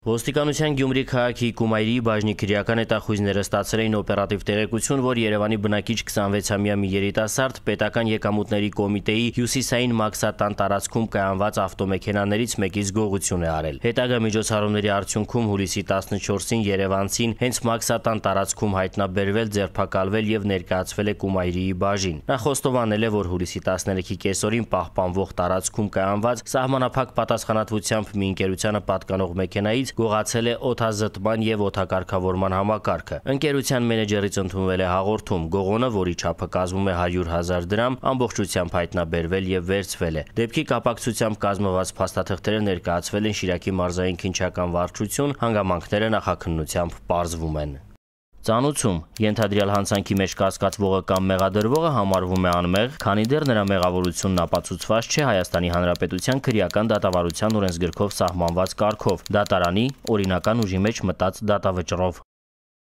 Ոստիկանության Գյումրի քաղաքի Կումայրի բաժնի քրեական հետախույզները ստացել էին օպերատիվ տեղեկություն, որ Երևանի բնակիչ 26-ամյա մի երիտասարդ պետական եկամուտների կոմիտեի հյուսիսային Մաքսատան տարածքում կայանված ավտոմեքենաներից մեկից գողություն է արել։ Հետագա միջոցառումների արդյունքում հուլիսի 14-ին երևանցին հենց Մաքսատան տարածքում հայտնաբերվել, ձերբակալվել եւ ներկայացվել է Կումայրիի բաժին։ Նա խոստովանել է, որ հուլիսի 13-ի կեսօրին պահպանվող տարածքում կայանված սահմանափակ պատասխանատվությամբ մի ընկերությանը պատկանող մեքենայից գողացել է օդազտման եւ օդակարգավորման համակարգը։ Ընկերության մենեջերից ընդունվել է հաղորդում։ Գողոնը, որի չափը կազմում է 100,000 դրամ, ամբողջությամբ հայտնաբերվել եւ վերցվել է։ Դեպքի կապակցությամբ կազմված փաստաթղթերը ներկայացվել են Շիրակի մարզային քննչական վարչություն, հանգամանքները նախաքննությամբ պարզվում են։ Ծանուցում ենթադրյալ հանցանքի մեջ կասկածվողը կամ մեղադրվողը համարվում է անմեղ, քանի դեռ նրա մեղավորությունն ապացուցված չէ Հայաստանի Հանրապետության քրեական դատավարության օրենսգրքով սահմանված կարգով՝ դատարանի օրինական ուժի մեջ մտած դատավճռով։